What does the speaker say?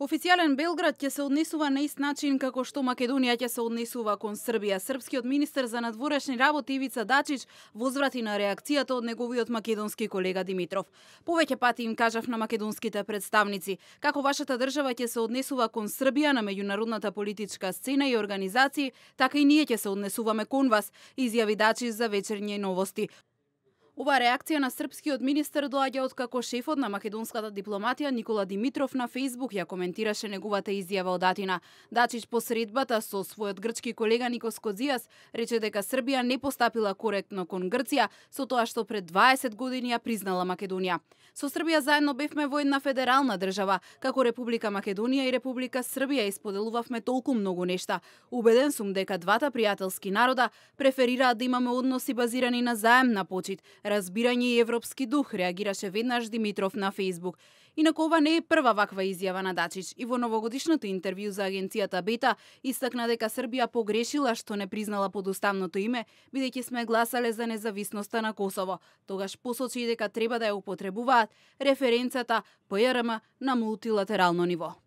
Официјален Белград ќе се однесува на ист начин како што Македонија ќе се однесува кон Србија. Српскиот министер за надворешни работи Ивица Дачич возврати на реакцијата од неговиот македонски колега Димитров. Повеќе пати им кажав на македонските представници како вашата држава ќе се однесува кон Србија на меѓународната политичка сцена и организации, така и ние ќе се однесуваме кон вас, изјави Дачич за вечерни новости. Ова реакција на српскиот министер доаѓа од како шефот на македонската дипломатија Никола Димитров на Фејсбук ја коментираше неговата изјава од Атина. Дачич по средбата со својот грчки колега Никос Кодзијас рече дека Србија не постапила коректно кон Грција со тоа што пред 20 години ја признала Македонија. Со Србија заедно бевме во една федерална држава, како Република Македонија и Република Србија исподелувавме толку многу нешта. Убеден сум дека двата пријателски народа преферираат да имаме односи базирани на заемна почит, разбирање и европски дух, реагираше веднаш Димитров на Фејсбук. Инаку ова не е прва ваква изјава на Дачич. И во новогодишното интервју за агенцијата Бета истакна дека Србија погрешила што не признала подуставното име, бидејќи сме гласале за независноста на Косово. Тогаш посочи дека треба да ја употребуваат референцата ПРМ на мултилатерално ниво.